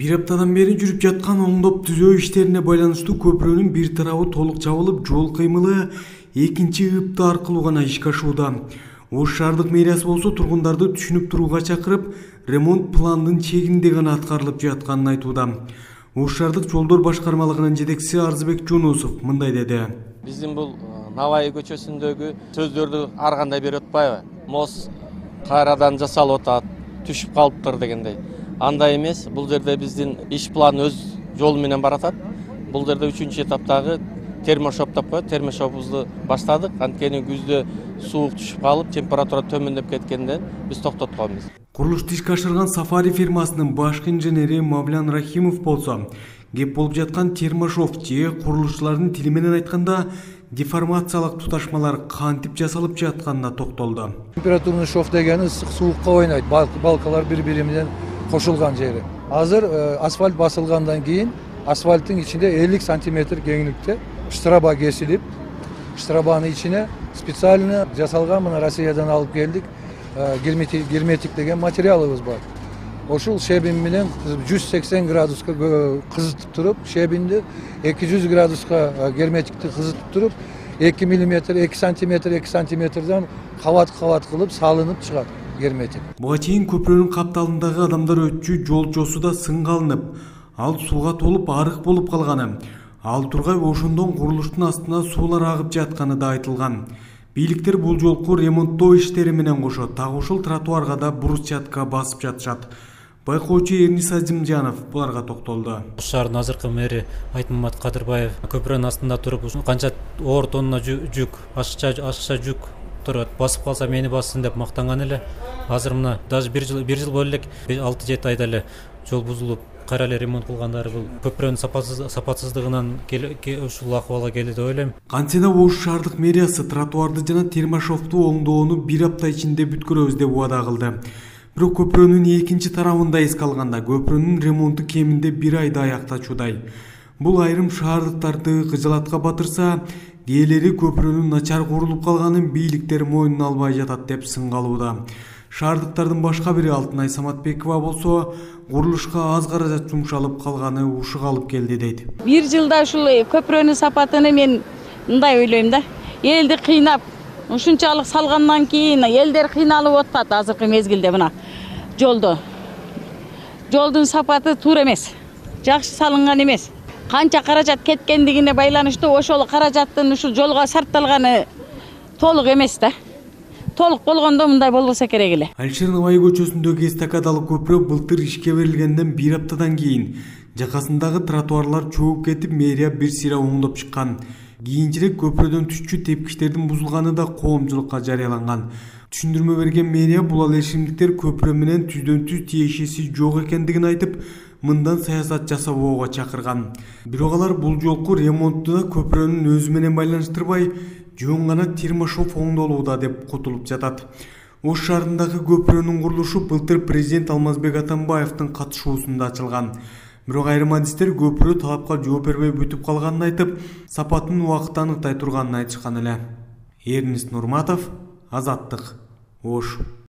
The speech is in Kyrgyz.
Bir haftadan beri жүрүп жаткан оңдоп түзөө иштерине байланыштуу көпүрөнүн бир тарабы толук жабылып, жол кыймылы экинчи ыпты аркылуу гана ишке ашууда. Ош шаардык мэриясы болсо тургундарды түшүнүп турууга чакырып, ремонт пландын чегинде гана аткарылып жатканын айтууда. Ош шаардык жолдор башкармалыгынын жетекчиси Арзыбек Жунусов мындай деди. Биздин бул Навай көчөсүндөгү сөздөрдү ар кандай берип атпайбы? Мост кайрадан жасалып атат, түшүп калыптыр дегендей. Андай эмес, бул жерде биздин иш планы өз жолу менен баратат. Бул жерде 3-чү этаптагы термошоп деп коет, термошопубузду баштадык. Анткени күздө суук түшүп калып, температура төмөндөп кеткенден биз токтотконбуз. Курулушту ишке ашырган Сафари фирмасынын башкы инженери Мавлян Рахимов болсо, кеп болуп жаткан термошоп же курулушчулардын тили менен айтканда деформациялык туташмалар кантип жасалып жатканына токтолду. Температурный шов дегени ысык суукка ойнойт, балкалар бири-бири менен кошулган жери. Азыр асфальт басылгандан кийин асфальттын ичинде 50 сантиметр кеңликте штраба кесилип, штрабанын ичине специально жасалган, мына Россиядан алып келдик, герметик деген материалыбыз бар. Ошол шебин менен 180 градуска кызытып туруп, шебинди 200 градуска герметикти кызытып туруп, 2 мм, 2 сантиметр, 2 сантиметрден кабат кылып салынып чыгат герметик. Буга чейин көпүрөнүн капталындагы адамдар өтчү жолчосу да сыңгалынып, ал сууга толуп арык болуп калганы, ал тургай ошондон курулуштун астына суулар агып жатканы да айтылган. Бийликтер бул жолку ремонттоо иштери менен кошо так ушул тротуарга да брусчатка басып жатышат. Байкоочу Эрнис Азимжанов буларга токтолду. Ош шаарынын азыркы мэри Айтмамат Кадырбаев көпүрөнүн астында туруп, канча оор тонна жүк, ашыкча жүк турат, басып калса мени бассын деп мактанган эле. Азыр мына даже бир жыл боло элек 6-7 айда эле жол бузулуп, кайра эле ремонт кылгандары бул көпүрөнүн сапатсыздыгынан ушул акыбалга келди деп ойлойм. Кантсе да Ош шаардык мэриясы тротуарды жана термошопту оңдоону бир апта ичинде бүткөрөбүз деп убада кылды. Бирок көпүрөнүн экинчи тарабында эске алганда көпүрөнүн ремонту кеминде 1 айда аяктачудай. Бул айрым шаардыктарды кыжалатка батырса, диэлери көпүрөнүн начар курулуп калганын бийликтер мойнуна албай жатат деп сыңгалууда. Шаардыктардын башка бири Алтынай Саматбекова болсо, курулушка аз каражат жумшалып калганы ушуга алып келди дейт. Бир жылда ушул көпүрөнүн сапатыны мен мындай ойлойм да. Элди кыйнап, ушунчалык салгандан кийин элдер кыйналып атат азыркы мезгилде мына жолдо. Жолдун сапаты туура эмес. Жакшы салынган эмес. Канча каражат кеткендигине байланыштуу ошол каражаттын ушул жолго сарпталганы толук эмес да. Толук болгондо мындай болбосо керек эле. Алишер Навай көчөсүндөгү эстакадалык көпүрө былтыр ишке берилгенден 1 аптадан кийин жакасындагы тротуарлар чөгүп кетип, мэрия бир сыйра оңдоп чыккан. Кийинчерээк көпүрөдөн түшчү тепкичтердин бузулганы да коомчулукка жарыяланган. Түшүндүрмө берген мэрия бул алешимдиктер көпүрө менен түздөн түз тиешеси жок экендигин айтып, мындан саясат жасабоого чакырган. Бирок алар бул жолку ремонтту да көпүрөнүн өзү менен байланыштырбай, жөн гана термошоп оңдолууда деп кутулуп жатат. Ош шаарындагы көпүрөнүн курулушу былтыр президент Алмазбек Атамбаевдин катышуусунда ачылган. Бирок айрым адистер көпүрө талапка жооп бербей бүтүп калганын айтып, сапатын убакытта аныктай турганын айтышкан эле. Эрнис Нурматов, Азаттык, Ош.